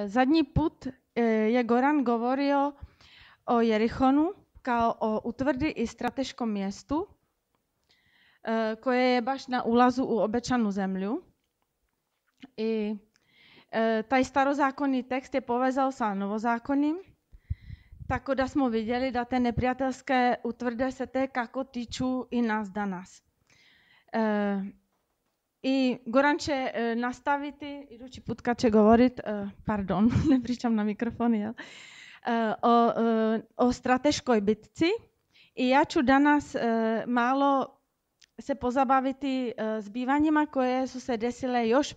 Zadnji put je Goran govorio o Jerichonu kao o utvrdi i strateškom mjestu koje je baš na ulazu u obećanu zemlju. I taj starozákonni tekst je povezal sa novozákonnim, tako da smo vidjeli da te neprijateljské utvrde se te kako tiču i nas danas. I Goran će nastaviti, idući put kad će govorit, pardon, ne pričam na mikrofon, jel? O strateškoj bitci. I ja ću danas malo se pozabaviti zbivanjima koje su se desile još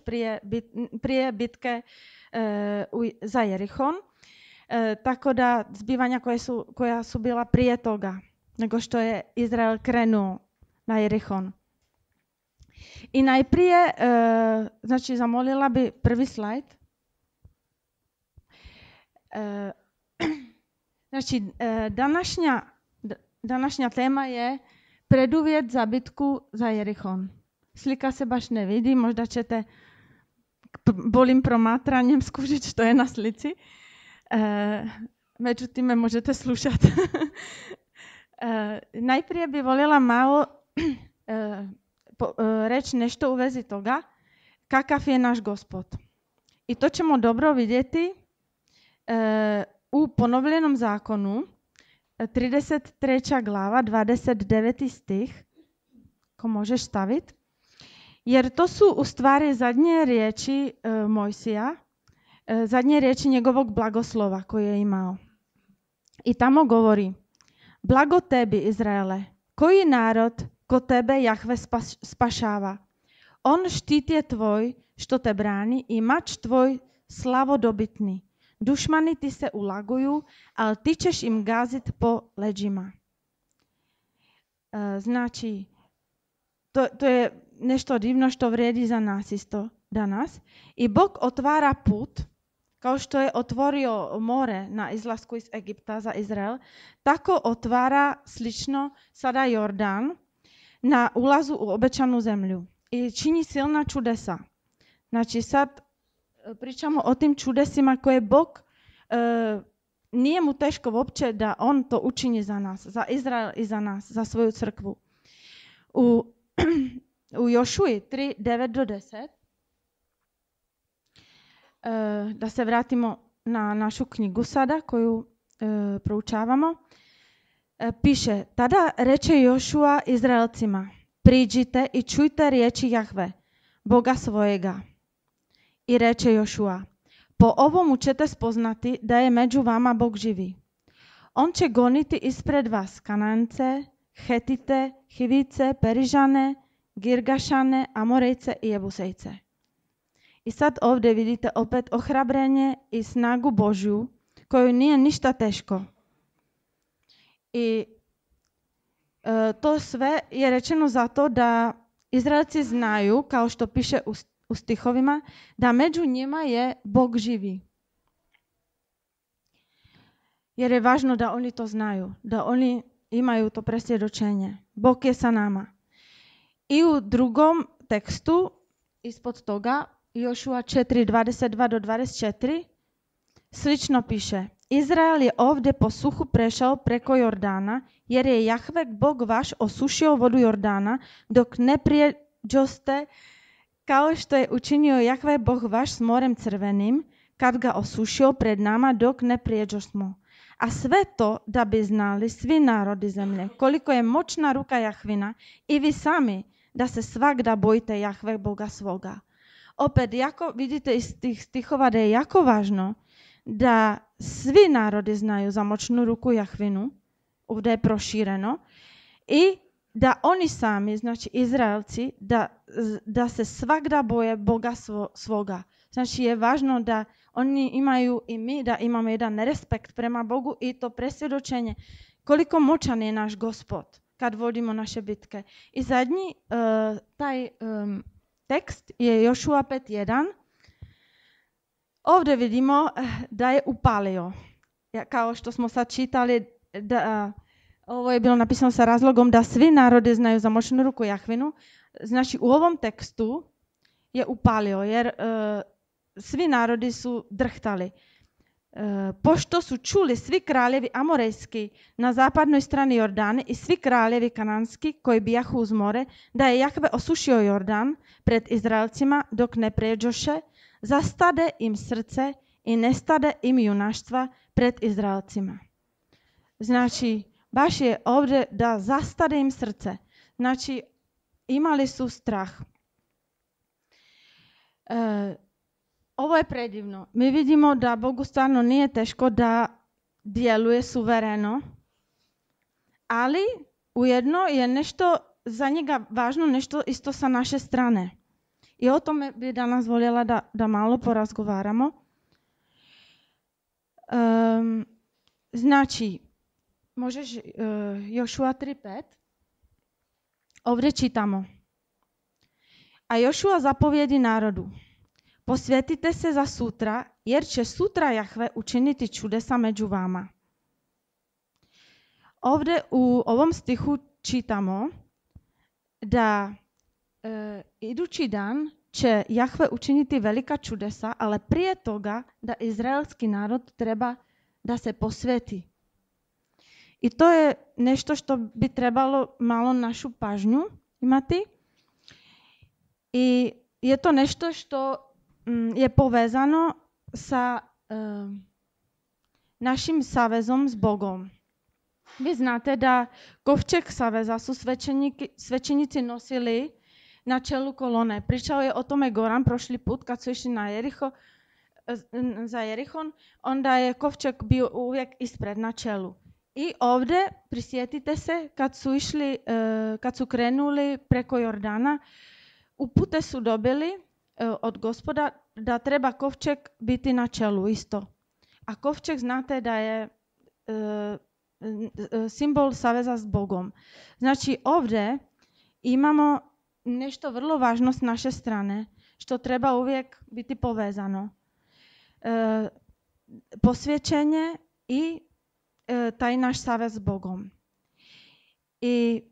prije bitke za Jerichon. Tako da zbivanja koja su bila prije toga, nego što je Izrael krenuo na Jerichon. I najprije, znači zamolila bi prvi slajd. Znači, današnja tema je preduvjet za bitku za Jerichon. Slika se baš ne vidi, možda ćete bolim promatranjem skužiti što je na slici. Međutim, me možete slušati. Najprije bi voljela malo reći nešto u vezi toga kakav je naš Gospod. I to ćemo dobro vidjeti u ponovljenom zakonu, 33. glava, 29. stih, ko možeš staviti. Jer to su u stvari zadnje riječi Mojsija, zadnje riječi njegovog blagoslova koje je imao. I tamo govori: blago tebi, Izraele, koji narod ko tebe Jahve spašava. On štit je tvoj što te brani i mač tvoj slavodobitni. Dušmani ti se ulaguju, ali ti ćeš im gazit po leđima. Znači, to je nešto divno što vrijedi za nas isto danas. I Bog otvara put, kao što je otvorio more na izlasku iz Egipta za Izrael, tako otvara slično sada Jordan na ulazu u obećanu zemlju. I čini silna čudesa. Znači sad pričamo o tim čudesima koje Bog, nije mu teško uopće da on to učini za nas, za Izrael i za nas, za svoju crkvu. U Jošuji 3, 9 do 10, da se vratimo na našu knjigu sada koju proučavamo, piše: tada reče Jošua Izraelcima: priđite i čujte riječi Jahve, Boga svojega. I reče Jošua: po ovomu ćete spoznati da je među vama Bog živi. On će goniti ispred vas Kanance, Hetite, Hivice, Perižane, Girgašane, Amorejce i Jebusejce. I sad ovdje vidite opet ohrabrenje i snagu Božju koju nije ništa teško. I to sve je rečeno zato da Izraelci znaju, kao što piše u stihovima, da među njima je Bog živi. Jer je važno da oni to znaju, da oni imaju to presvjedočenje. Bog je sa nama. I u drugom tekstu, ispod toga, Jošua 4, 22 do 24, slično piše: Izrael je ovdje po suhu prešao preko Jordana, jer je Jahve Bog vaš osušio vodu Jordana, dok ne prijeđoste, kao što je učinio Jahve Bog vaš s morem crvenim, kad ga osušio pred nama, dok ne prijeđosmo. A sve to da bi znali svi narodi zemlje, koliko je moćna ruka Jahvina, i vi sami, da se svagda bojite Jahve Boga svoga. Opet, vidite iz tih stihova da je jako važno da svi narodi znaju za moćnu ruku Jahvinu, ovdje je prošireno, i da oni sami, znači Izraelci, da se svagda boje Boga svoga. Znači je važno da oni imaju i mi da imamo jedan respekt prema Bogu i to presvjedočenje koliko moćan je naš Gospod kad vodimo naše bitke. I zadnji taj tekst je Jošua 5.1. Ovdje vidimo da je upalio. Kao što smo sad čitali, ovo je bilo napisano sa razlogom da svi narodi znaju za moćnu ruku Jahvinu. Znači u ovom tekstu je upalio, jer svi narodi su drhtali. Pošto su čuli svi kraljevi amorejski na zapadnoj strani Jordana i svi kraljevi kananski koji bijahu uz more, da je Jahve osušio Jordan pred Izraelcima dok ne pređoše, zastade im srce i nestade im junaštva pred Izraelcima. Znači, baš je ovdje da zastade im srce. Znači, imali su strah. Ovo je predivno. Mi vidimo da Bogu stvarno nije teško da djeluje suvereno, ali ujedno je nešto za njega važno, nešto isto sa naše strane. I o tome bi danas voljela da malo porazgovaramo. Znači, možeš Jošua 3.5. Ovdje čitamo. A Jošua zapovjedi narodu. Posvetite se za sutra, jer će sutra Jahve učiniti čudesa među vama. Ovdje u ovom stihu čitamo da idući dan će Jahve učiniti velika čudesa, ali prije toga da izraelski narod treba da se posveti. I to je nešto što bi trebalo malo našu pažnju imati. I je to nešto što je povezano sa našim savezom s Bogom. Vi znate da kovčeg saveza su svećenici nosili na čelu kolone. Pričao je o tome Goran prošli put kad su išli za Jerihon, onda je kovčeg bio uvijek ispred na čelu. I ovdje prisjetite se kad su krenuli preko Jordana, upute su dobili od Gospoda da treba kovčeg biti na čelu isto. A kovčeg znate da je simbol saveza s Bogom. Znači ovdje imamo nešto vrlo važno s naše strane, što treba uvijek biti povezano. Posvećenje i taj naš savez s Bogom. I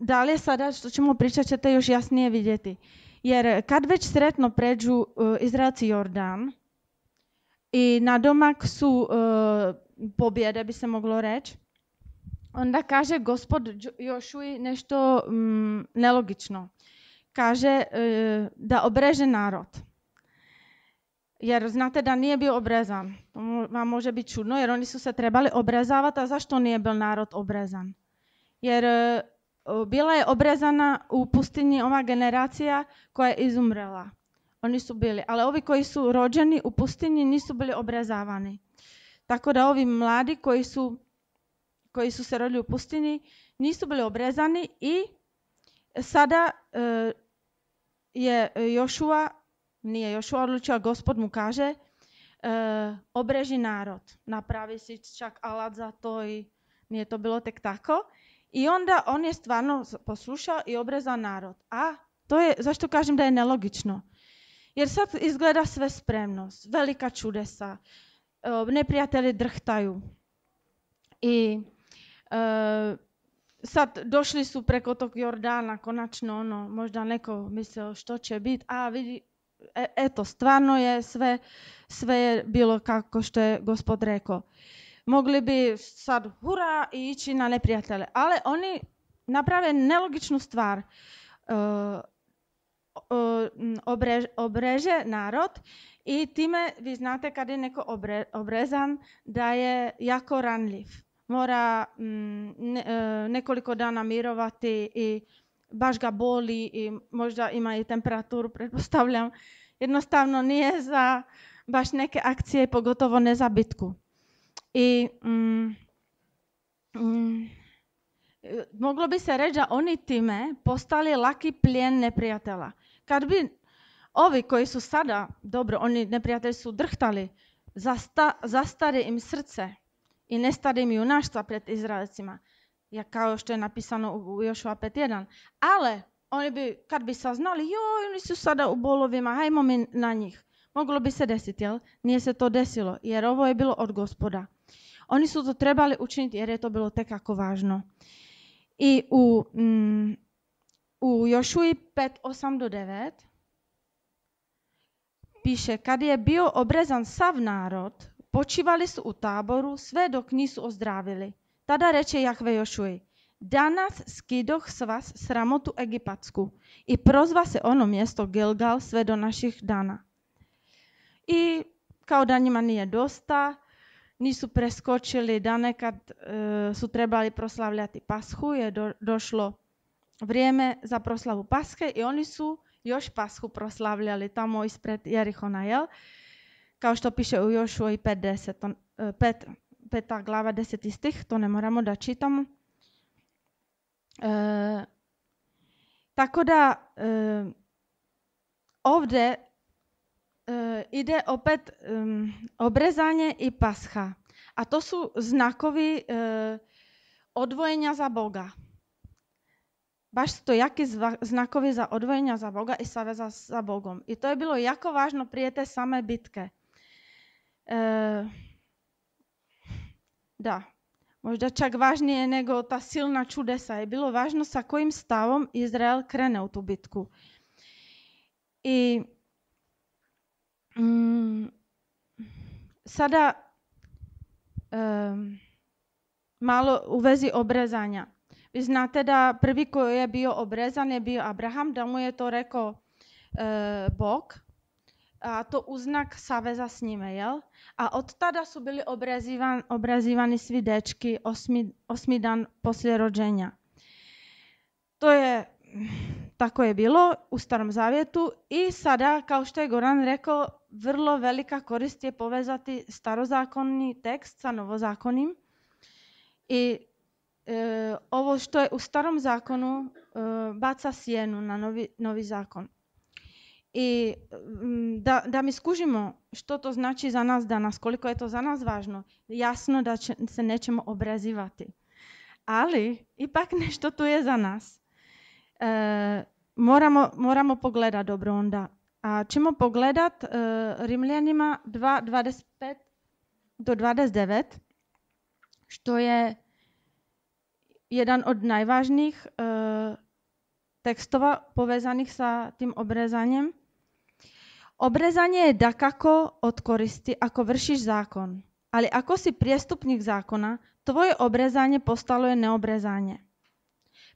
dalje sada što ćemo pričati ćete još jasnije vidjeti. Jer kad već sretno pređu Izraelci Jordan i nadomak su pobjede, bi se moglo reći, onda kaže Gospod Jošuji nešto nelogično. Kaže da obreže narod. Jer znate da nije bio obrezan. To vam može biti čudno jer oni su se trebali obrezavati, a zašto nije bio narod obrezan? Jer bila je obrezana u pustinji ova generacija koja je izumrela. Oni su bili, ali ovi koji su rođeni u pustinji nisu bili obrezavani. Tako da ovi mladi koji su se rodili u pustinji nisu bili obrezani i sada je nije Jošua odlučio, Gospod mu kaže obreži narod. Napravi si čak alat za to i nije to bilo tek tako. I onda on je stvarno poslušao i obrezao narod. A to je, zašto kažem da je nelogično? Jer sad izgleda sve spremno, velika čudesa, neprijatelji drhtaju. I sad došli su preko tog Jordana, konačno možda neko mislio što će biti, a vidi, eto, stvarno je sve je bilo kako što je Gospod rekao. Mogli bi sad hura i ići na neprijatelje, ali oni naprave nelogičnu stvar. Obreže narod i time vi znate kad je neko obrezan da je jako ranljiv. Mora nekoliko dana mirovati i baš ga boli i možda ima i temperaturu, pretpostavljam. Jednostavno nije za baš neke akcije, pogotovo ne za bitku. I moglo bi se reći da oni time postali laki plijen neprijatelja. Kad bi ovi koji su sada, dobro, oni neprijatelji su drhtali, zastare im srce i nestade im junaštva pred Izraelcima, kao što je napisano u Jošua 5.1. Ali oni bi, kad bi saznali, oni su sada u bolovima, hajmo mi na njih. Moglo bi se desiti, jel? Nije se to desilo, jer ovo je bilo od Gospoda. Oni su to trebali učiniti jer je to bilo tekako važno. I u Jošuji 5.8-9 piše, kad je bio obrezan sav narod, počivali su u taboru sve dok nisu ozdravili. Tada reče Jahve Jošuji, danas skidoh s vas sramotu egipatsku i prozva se ono mjesto Gilgal sve do naših dana. I kao da njima nije dosta, nisu preskočili dane kad su trebali proslavljati Pashu, je došlo vrijeme za proslavu Paske i oni su još Pashu proslavljali tamo ispred Jerihona, jel? Kao što piše u Jošuji 5. glava 10. stih, to ne moramo da čitamo. Tako da ovdje ide opet obrezanje i Pasha. A to su znakovi odvojenja za Boga. Baš su to jaki znakovi za odvojenja za Boga i saveza sa Bogom. I to je bilo jako važno prije te same bitke. Da, možda čak važnije nego ta silna čudesa. Je bilo važno sa kojim stavom Izrael krene u tu bitku. I sada malo u vezi obrezanja. Vi znate da prvi koji je bio obrezan je bio Abraham, da mu je to rekao Bog, a to uznak saveza s njime, jel? A od tada su bili obrezivani svi dečki 8. dan poslije rođenja. To je, tako je bilo u Starom zavjetu i sada, kao što je Goran rekao, vrlo velika korist je povezati starozakonni tekst sa novozakonim. I ovo što je u Starom zakonu baca sjenu na novi zakon. I da mi skužimo što to znači za nas danas, koliko je to za nas važno, jasno da se nećemo obrezivati. Ali ipak nešto tu je za nas. Moramo pogledati dobro onda. A ćemo pogledati Rimljanima 2:25 do 29, što je jedan od najvažnijih tekstova povezanih sa tim obrezanjem. Obrezanje je dakako od koristi ako vršiš zakon, ali ako si prijestupnik zakona, tvoje obrezanje postalo je neobrezanje.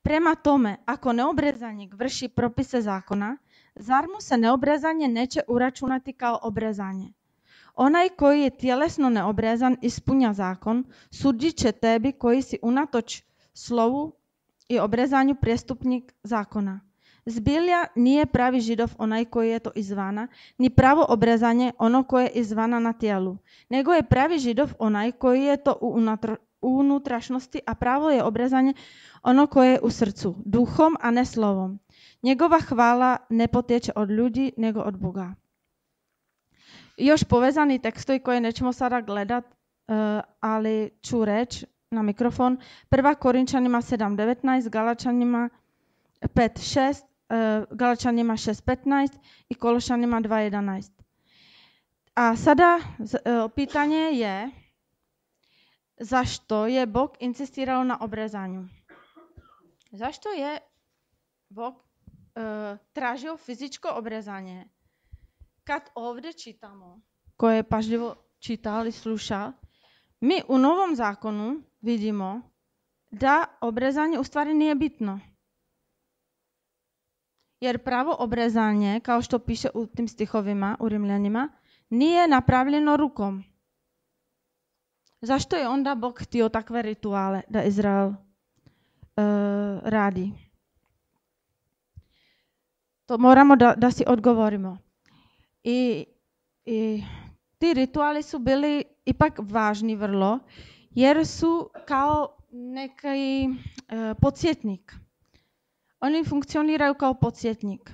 Prema tome, ako neobrezanik vrši propise zakona, zar mu se neobrezanje neće uračunati kao obrezanje? Onaj koji je tjelesno neobrezan ispunja zakon, sudit će tebi koji si unatoč slovu i obrezanju prijestupnik zakona. Zbilja nije pravi Židov onaj koji je to izvana, ni pravo obrezanje ono koje je izvana na tijelu, nego je pravi Židov onaj koji je to u unutrašnosti, a pravo je obrezanje ono koje je u srcu, duhom, a ne slovom. Njegova hvala ne potječe od ljudi, nego od Boga. Još povezani tekstovi koje nećemo sada gledat, ali ću reći na mikrofon. 1. Korinčanima 7:19, Galačanima 5:6, Galačanima 6:15 i Kološanima 2:11. A sada pitanje je zašto je Bog insistirao na obrezanju? Zašto je Bog tražio fizičko obrezanje? Kad ovdje čitamo, koje je pažljivo čitao i slušao, mi u Novom zakonu vidimo da obrezanje u stvari nije bitno. Jer pravo obrezanje, kao što piše u tim stihovima, u Rimljanima, nije napravljeno rukom. Zašto je onda Bog htio takve rituale da Izrael radi? To moramo da si odgovorimo. I ti rituali su bili ipak važni vrlo, jer su kao neki podsjetnik. Oni funkcioniraju kao podsjetnik.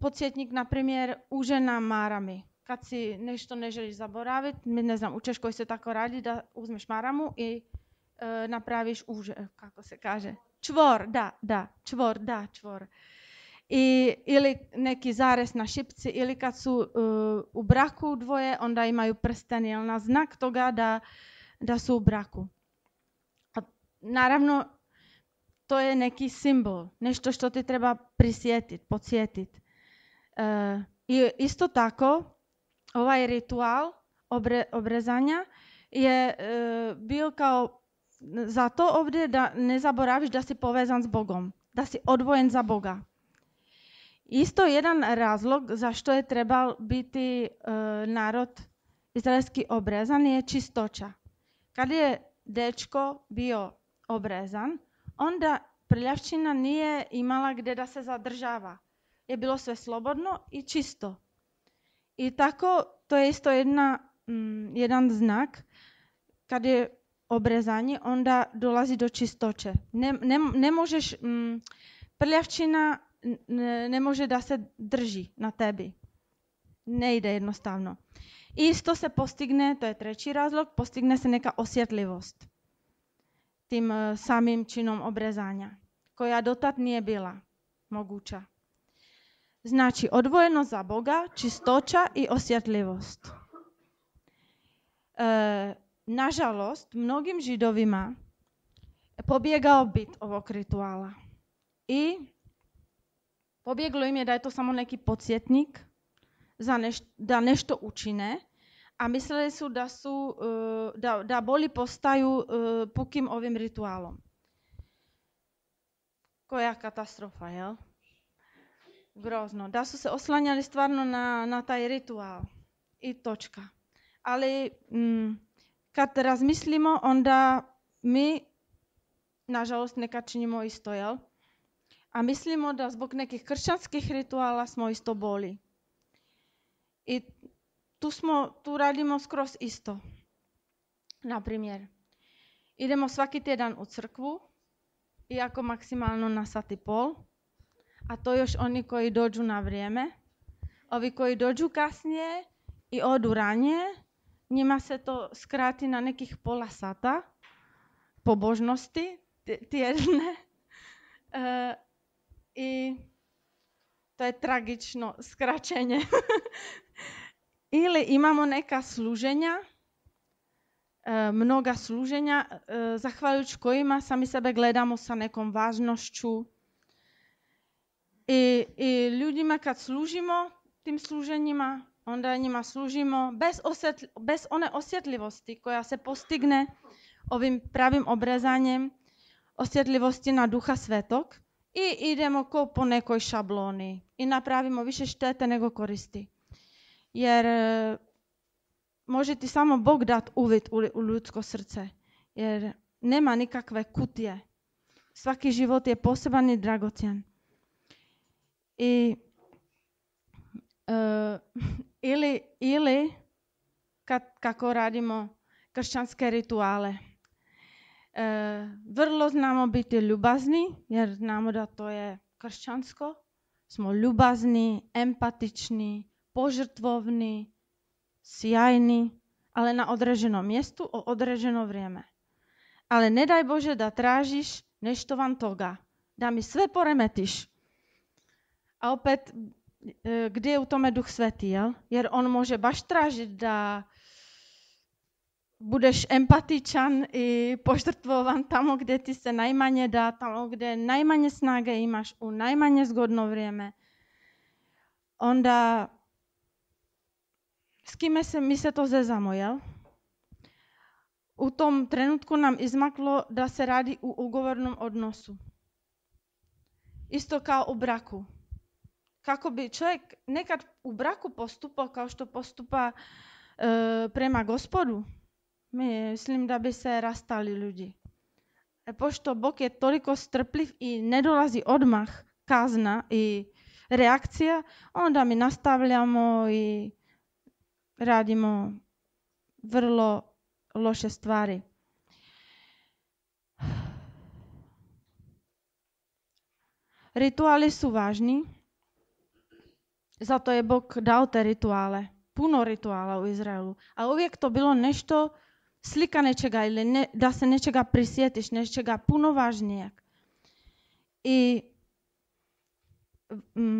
Podsjetnik, na primjer, uže na marami. Kad si nešto ne želiš zaboraviti, ne znam, u Češkoj se tako radi da uzmeš maramu i napraviš uže, kako se kaže. Čvor. Ili neki zarez na šipci, ili kad su u braku dvoje, onda imaju prsten, jel, na znak toga da su u braku. A naravno, to je neki simbol, nešto što ti treba prisjetiti, podsjetiti. I isto tako, ovaj ritual obrezanja je bio kao zato ovdje da ne zaboraviš da si povezan s Bogom, da si odvojen za Boga. Isto jedan razlog zašto je trebal biti narod izraelski obrezan je čistoća. Kad je dečko bio obrezan, onda prljavčina nije imala gdje da se zadržava. Je bilo sve slobodno i čisto. I tako to je isto jedan znak. Kad je obrezanje, onda dolazi do čistoće. Ne možeš, prljavčina ne može da se drži na tebi. Ne ide jednostavno. Isto se postigne, to je treći razlog, postigne se neka osjetljivost tim samim činom obrezanja, koja dotad nije bila moguća. Znači, odvojeno za Boga, čistoća i osjetljivost. Nažalost, mnogim Židovima pobjegao bit ovog rituala. I pobjeglo im je da je to samo neki podsjetnik da nešto učine, a mislili su da bolji postaju pukim ovim ritualom. Koja katastrofa, jel? Grozno. Da su se oslanjali stvarno na taj ritual. I točka. Ali kad razmislimo, onda mi, nažalost, nekad činimo isto, jel? A mislimo da zbog nekih kršćanskih rituala smo isto boli. I tu radimo skroz isto. Naprimjer, idemo svaki tjedan u crkvu, iako maksimalno na 1,5 sata, a to još oni koji dođu na vrijeme. Ovi koji dođu kasnije i odu ranije, njima se to skrati na nekih pola sata pobožnosti tjedne. I to je tragično skraćenje. Ili imamo neka služenja, mnoga služenja, zahvaljujući kojima sami sebe gledamo sa nekom važnošću. I ljudima kad služimo tim služenjima, onda njima služimo bez one osjetljivosti koja se postigne ovim pravim obrezanjem, osjetljivosti na Duha Svetog i idemo ko po nekoj šabloni i napravimo više štete nego koristi. Jer može ti samo Bog dati uvid u ljudsko srce, jer nema nikakve kutije. Svaki život je poseban i dragocjen. Ili kako radimo kršćanske rituale. Vrlo znamo biti ljubazni, jer znamo da to je kršćansko. Smo ljubazni, empatični, požrtvovni, sjajni, ali na određenom mjestu, o određeno vrijeme. Ali ne daj Bože da tražiš nešto van toga, da mi sve poremetiš. A opet, gdje je u tome Duh Sveti, jel? Jer on može baš tražiti da budeš empatičan i požrtvovan tamo gdje ti se najmanje da, tamo gdje najmanje snage imaš, u najmanje zgodno vrijeme. Onda s kime mi se to zezamo, jel? U tom trenutku nam izmaklo da se radi u ugovornom odnosu. Isto kao u braku. Kako bi čovjek nekad u braku postupao kao što postupa prema Gospodu, mislim da bi se rastali ljudi. Pošto Bog je toliko strpljiv i ne dolazi odmah kazna i reakcija, onda mi nastavljamo i radimo vrlo loše stvari. Rituali su važni, zato je Bog dao te rituale. Puno rituala u Izraelu, a uvijek to bilo nešto, slika nečega ili da se nečega prisjetiš, nečega puno važnijeg. I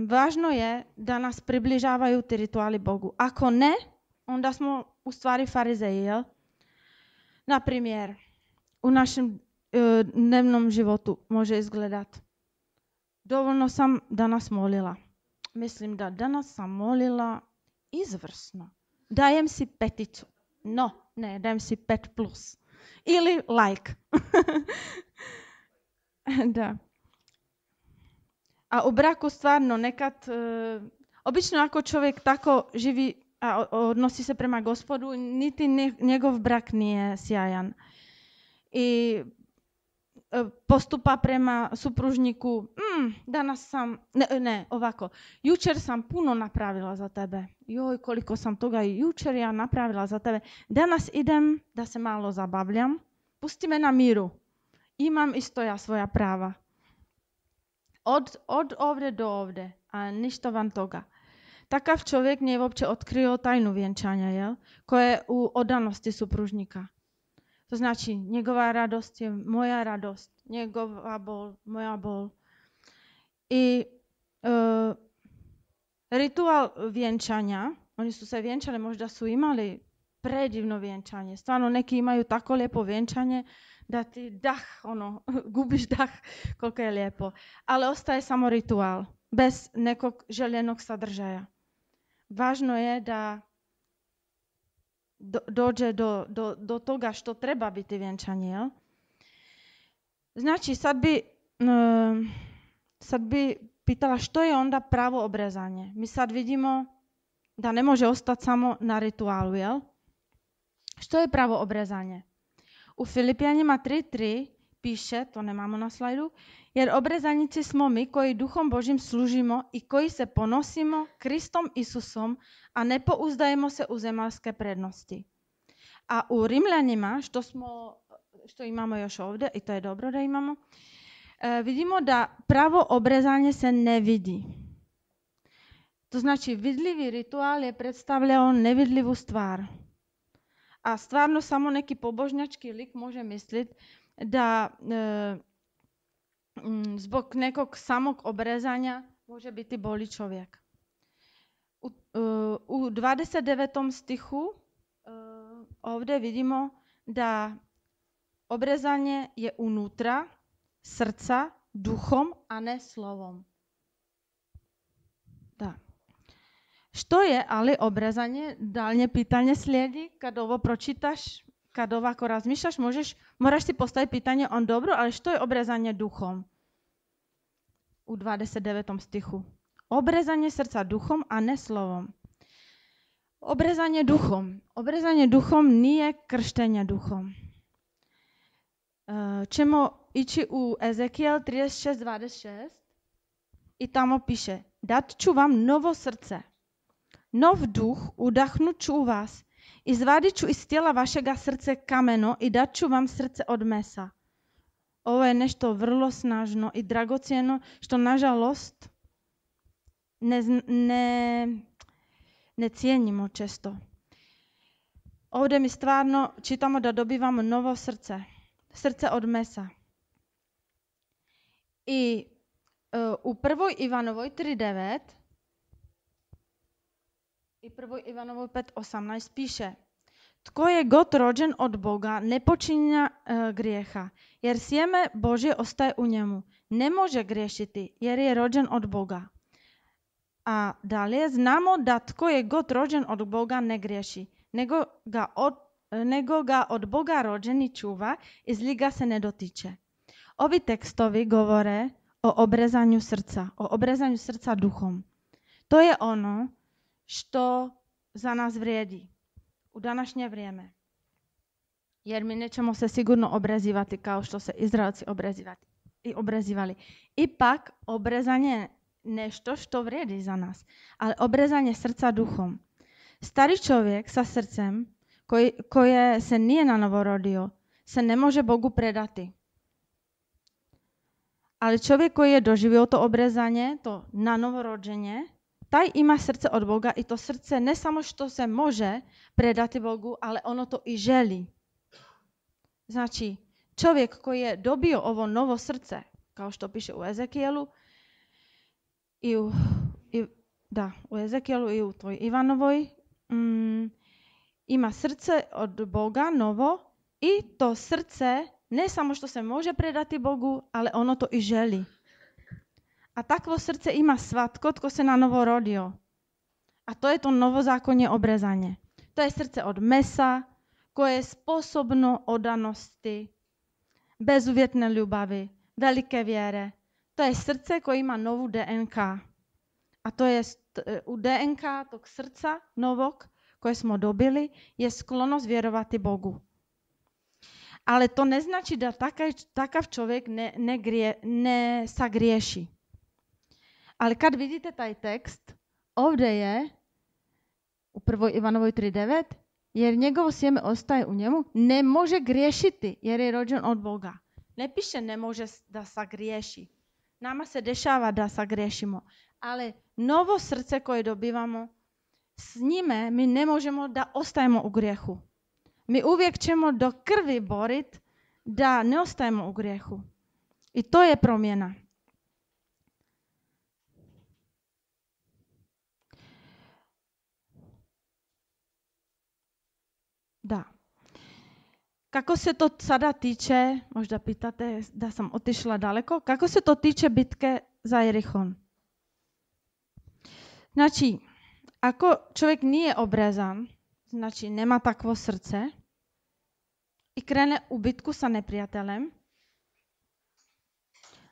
važno je da nas približavaju ti rituali Bogu. Ako ne, onda smo u stvari farizeji, jel? Naprimjer, u našem dnevnom životu može izgledati. Dovoljno sam danas molila. Mislim da danas sam molila izvrsno. Dajem si 5. No, ne, dajem si 5+. Ili like. Da. A u braku stvarno nekad, obično ako čovjek tako živi a odnosi se prema Gospodu, niti njegov brak nije sjajan. I postupa prema supružniku, danas sam, ovako, jučer sam puno napravila za tebe. Joj, koliko sam toga i jučer ja napravila za tebe. Danas idem da se malo zabavljam, pusti me na miru. Imam isto ja svoja prava. Od ovdje do ovdje, a ništa van toga. Takav čovjek nije uopće otkrio tajnu vjenčanja, jel? Koje je u odanosti supružnika. To znači, njegova radost je moja radost, njegova bol, moja bol. I ritual vjenčanja, oni su se vjenčali, možda su imali predivno vjenčanje. Stvarno neki imaju tako lijepo vjenčanje da ti gubiš dah koliko je lijepo. Ali ostaje samo ritual, bez nekog željenog sadržaja. Važno je da dođe do toga što treba biti vjenčanje. Jel? Znači, sad bi pitala što je onda pravo obrezanje. Mi sad vidimo da ne može ostati samo na ritualu. Jel? Što je pravo obrezanje? U Filipljanima 3.3 piše, to nemamo na slajdu, jer obrezanici smo mi koji Duhom Božim služimo i koji se ponosimo Kristom Isusom, a ne pouzdajemo se u zemaljske prednosti. A u Rimljanima, što imamo još ovdje, i to je dobro da imamo, vidimo da pravo obrezanje se ne vidi. To znači vidljivi ritual je predstavljao nevidljivu stvar. A stvarno samo neki pobožnjački lik može misliti da zbog nekog samog obrezanja može biti boli čovjek. U 29. stihu ovdje vidimo da obrezanje je unutra srca, duhom, a ne slovom. Da. Što je ali obrezanje? Daljnje pitanje slijedi kad ovo pročitaš, kad ovako razmišljaš, moraš si postaviti pitanje dobro, ali što je obrezanje duhom? U 29. stihu. Obrezanje srca duhom, a ne slovom. Obrezanje duhom. Obrezanje duhom nije krštenje duhom. Ćemo ići u Ezekijel 36:26 i tamo piše: dat ću vam novo srce, nov duh udahnut ću u vas, izvadit ću iz tijela vašega srce kameno i dat ću vam srce od mesa. Ovo je nešto vrlo snažno i dragocjeno što nažalost ne cijenimo često. Ovdje mi stvarno čitamo da dobivamo novo srce, srce od mesa. I u 1. Ivanovoj 3.9 i 1. Ivanovoj 5.18 piše: tko je god rođen od Boga ne počinja grijeha, jer sjeme Božje ostaje u njemu. Ne može griješiti jer je rođen od Boga. A dalje znamo da tko je god rođen od Boga ne griješi, nego ga od Boga rođeni čuva i zli ga se ne dotiče. Ovi tekstovi govore o obrezanju srca duhom. To je ono što za nas vrijedi u današnje vrijeme. Jer mi nećemo se sigurno obrezivati kao što se Izraelci obrezivali. Ipak obrezanje je nešto što vrijedi za nas, ali obrezanje srca duhom. Stari čovjek sa srcem koje se nije na novo rodio se ne može Bogu predati. Ali čovjek koji je doživio to obrezanje, to na novo rođenje, taj ima srce od Boga i to srce ne samo što se može predati Bogu, ali ono to i želi. Znači, čovjek koji je dobio ovo novo srce, kao što piše u Ezekijelu, u Ezekijelu i u toj Ivanovoj, ima srce od Boga novo i to srce ne samo što se može predati Bogu, ali ono to i želi. A takvo srdce ima svatko, tko se na novo rodio. A to je to novozákonne obrezanie. To je srdce od mesa, koje je sposobno odanosti, bezuvjetne ljubavi, velike vjere. To je srdce koje ima novu DNK. A to je u DNK tog srca novog koje smo dobili je sklonost vjerovati Bogu. Ale to ne znači da takav čovjek ne sagriješi. Ali kad vidite taj tekst, ovdje je u 1. Ivanovoj 3.9, jer njegovo sjeme ostaje u njemu, ne može griješiti jer je rođen od Boga. Ne piše ne može da sagriješi. Nama se dešava da sagriješimo. Ali novo srce koje dobivamo, s njime mi ne možemo da ostajemo u grijehu. Mi uvijek ćemo do krvi boriti da ne ostajemo u grijehu. I to je promjena. Da. Kako se to sada tiče, možda pitate da sam otišla daleko, kako se to tiče bitke za Jerichon? Znači, ako čovjek nije obrezan, znači nema takvo srce i krene u bitku sa neprijateljem,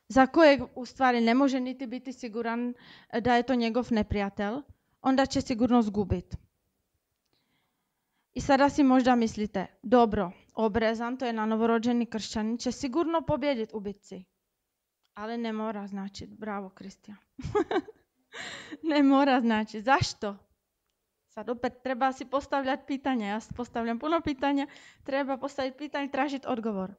za kojeg u stvari ne može niti biti siguran da je to njegov neprijatelj, onda će sigurno zgubiti. I sada si možda mislite, dobro, obrezan, to je na novorođeni kršćanin, će sigurno pobijediti u bitci. Ali ne mora značiti. Bravo, Kristijan. Ne mora značiti. Zašto? Sad opet treba si postavljati pitanja. Ja postavljam puno pitanja. Treba postaviti pitanje i tražiti odgovor.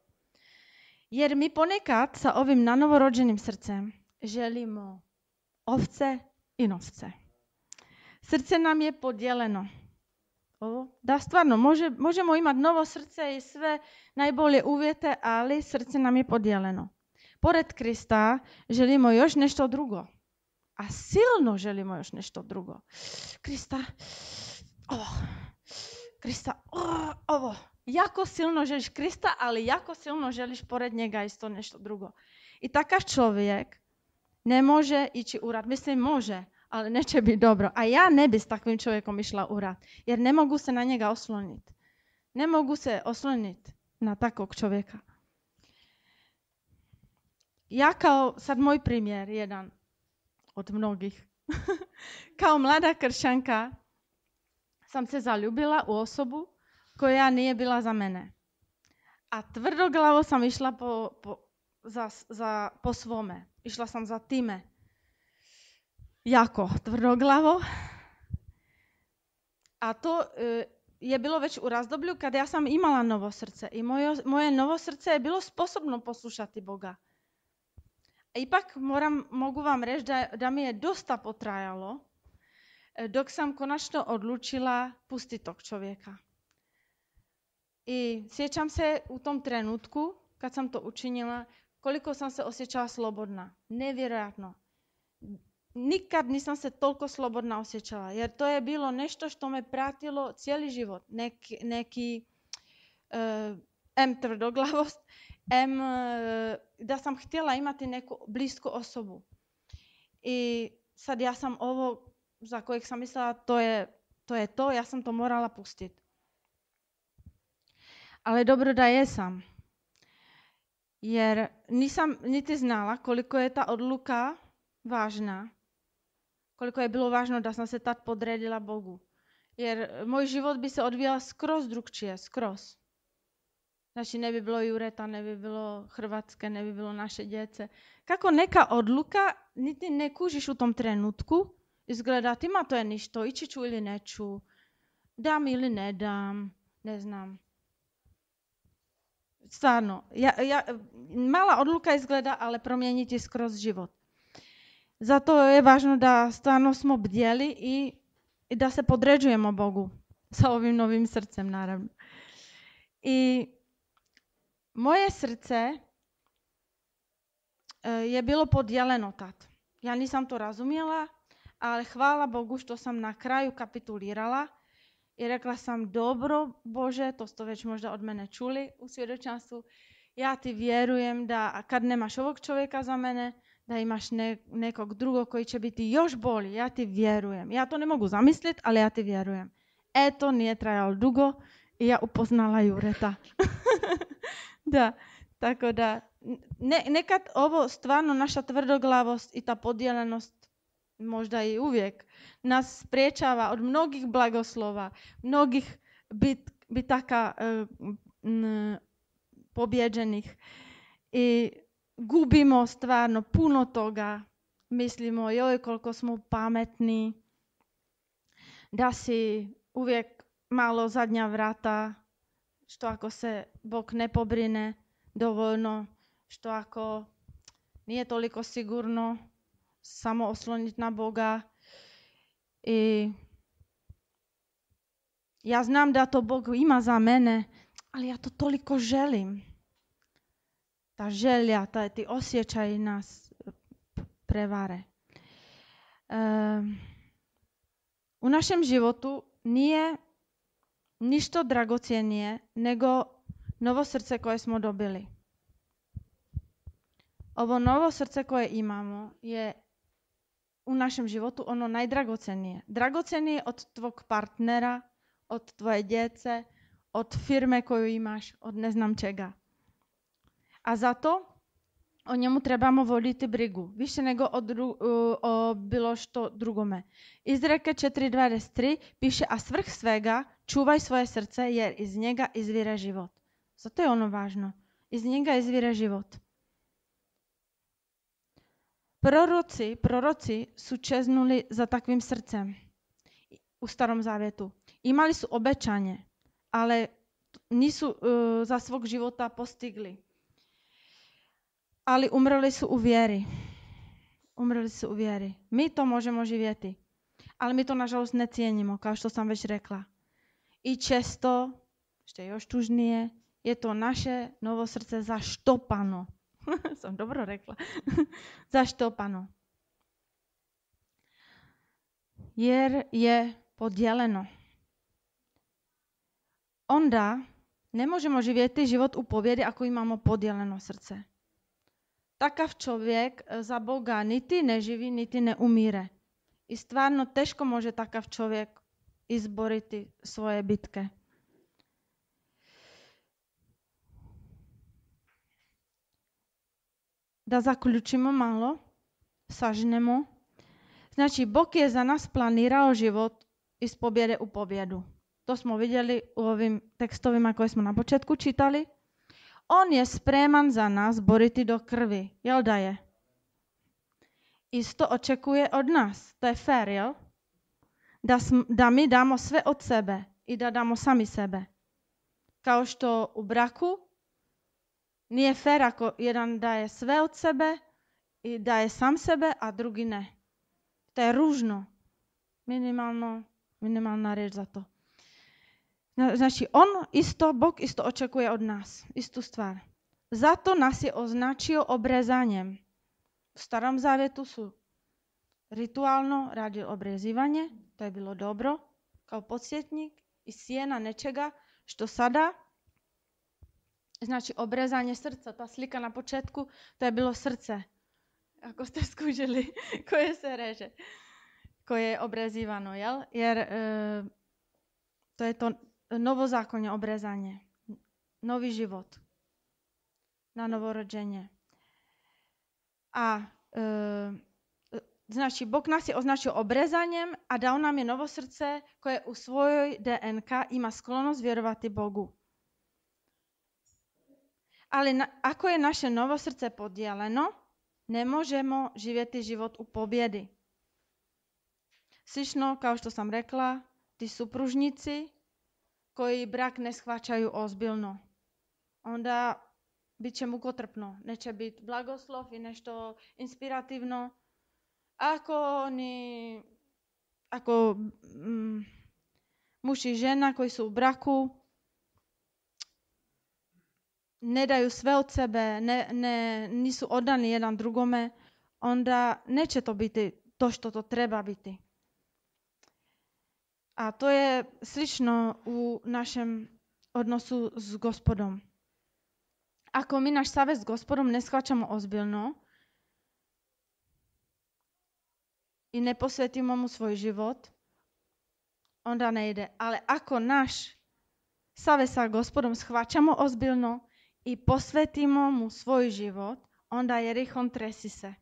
Jer mi ponekad sa ovim nanovorođenim srcem želimo ovce i novce. Srce nam je podijeljeno. Da, stvarno, možemo imati novo srce i sve najbolje uvjete, ali srce nam je podijeljeno. Pored Krista želimo još nešto drugo. A silno želimo još nešto drugo. Krista, ovo. Jako silno želiš Krista, ali jako silno želiš pored njega isto nešto drugo. I takav čovjek ne može ići u rat. Mislim, može, ali neće biti dobro. A ja ne bi s takvim čovjekom išla u rat, jer ne mogu se na njega osloniti. Ne mogu se osloniti na takvog čovjeka. Ja kao, sad moj primjer, jedan od mnogih, kao mlada kršćanka sam se zaljubila u osobu koja nije bila za mene. A tvrdoglavo sam išla po svome. Išla sam za time. Jako tvrdoglavo. A to je bilo već u razdoblju kada ja sam imala novo srce. I moje novo srce je bilo sposobno poslušati Boga. Ipak mogu vam reći da mi je dosta potrajalo dok sam konačno odlučila pustiti tog čovjeka. I sjećam se u tom trenutku, kad sam to učinila, koliko sam se osjećala slobodna. Nevjerojatno. Nikad nisam se toliko slobodna osjećala, jer to je bilo nešto što me pratilo cijeli život. Neki tvrdoglavost, da sam htjela imati neku blisku osobu. I sad ja sam ovo za kojeg sam mislila to je to, ja sam to morala pustiti. Ali dobro da jesam. Jer nisam niti znala koliko je ta odluka važna. Koliko je bilo važno da sam se tad podredila Bogu. Jer moj život bi se odvijao skroz drugčije, skroz. Znači ne bi bilo Jureta, ne bi bilo Hrvatske, ne bi bilo naše djece. Kako neka odluka, niti ne kužiš u tom trenutku, izgleda ima to je ništo, ići ću ili neću, dam ili ne dam, ne znam. Stvarno, mala odluka izgleda, ali promijeniti skroz život. Zato je važno da stvarno smo bdjeli i da se podređujemo Bogu sa ovim novim srcem, naravno. I moje srce je bilo podijeljeno tad. Ja nisam to razumjela, ali hvala Bogu što sam na kraju kapitulirala i rekla sam, dobro Bože, to ste već možda od mene čuli u svjedočanstvu, ja ti vjerujem da kad nemaš ovog čovjeka za mene, da imaš nekog drugog koji će biti još bolji. Ja ti vjerujem. Ja to ne mogu zamisliti, ali ja ti vjerujem. To nije trajalo dugo i ja upoznala Jureta. Da, tako da nekad ovo stvarno naša tvrdoglavost i ta podijeljenost možda i uvijek nas spriječava od mnogih blagoslova, mnogih bitaka pobjeđenih i gubimo stvarno puno toga. Mislimo joj koliko smo pametni, da si uvijek malo zadnja vrata, što ako se Bog ne pobrine dovoljno, što ako nije toliko sigurno samo osloniti na Boga. I ja znam da to Bog ima za mene, ali ja to toliko želim. Ta želja, ti osjećaji nas prevare. U našem životu nije ništa dragocjenije nego novo srce koje smo dobili. Ovo novo srce koje imamo je u našem životu ono najdragocjenije. Dragocjenije od tvog partnera, od tvoje djece, od firme koju imaš, od ne znam čega. A zato o njemu trebamo voditi brigu, više nego o bilo što drugome. Izreke 4.23 piše, a svrh svega čuvaj svoje srce jer iz njega izvire život. Zato je ono važno. Iz njega izvire život. Proroci su čeznuli za takvim srcem u Starom Zavjetu. Imali su obećanje, ali nisu za svog života postigli. Ali umrli su u vjeri. Mi to možemo živjeti, ali mi to nažalost ne cijenimo, kao što sam već rekla. I često, što je još tužnije, je to naše novo srce zaštopano. Sam dobro rekla. Zaštopano. Jer je podijeljeno. Onda ne možemo živjeti život u pobjedi ako imamo podijeljeno srce. Takav čovjek za Boga niti ne živi, niti ne umire. I stvarno teško može takav čovjek izboriti svoje bitke. Da zaključimo malo, sažnemo. Znači, Bog je za nas planirao život iz pobjede u pobjedu. To smo vidjeli u ovim tekstovima koje smo na početku čitali. On je spreman za nas boriti do krvi. Jel da je? Isto očekuje od nas. To je fair, jel? Da mi damo sve od sebe i da damo sami sebe. Kao što u braku nije fair ako jedan daje sve od sebe i daje sam sebe, a drugi ne. To je ružno. Minimalna riječ za to. Znači, Bog isto očekuje od nas. Istu stvar. Zato nas je označio obrezanjem. U Starom Zavjetu su ritualno radili obrezivanje. To je bilo dobro. Kao podsjetnik i sjena nečega što sada, znači obrezanje srca, ta slika na početku, to je bilo srce. Ako ste skužili koje se reže, koje je obrezivano, jel? Jer to je to novozakonje obrezanje, novi život, na novorođenje. A znači, Bog nas je označio obrezanjem, a dao nam je novo srce koje u svojoj DNK ima sklonost vjerovati Bogu. Ali ako je naše novo srce podijeljeno, ne možemo živjeti život u pobjedi. Slično, kao što sam rekla, ti supružnici koji brak ne shvaćaju ozbiljno, onda bit će mukotrpno, neće biti blagoslov i nešto inspirativno. Ako muž i žena koji su u braku ne daju sve od sebe, nisu odani jedan drugome, onda neće to biti to što to treba biti. A to je slično u našem odnosu s Gospodom. Ako mi naš savez s Gospodom ne shvaćamo ozbiljno, i neposvetimo mu svoj život, onda nejde. Ale ako naš save sa Gospodom shvaćamo ozbiljno i posvetimo mu svoj život, onda Jerichon tresi se.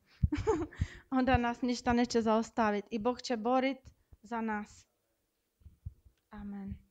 Onda nas ništa neće zaustaviti i Bog će boriti za nas. Amen.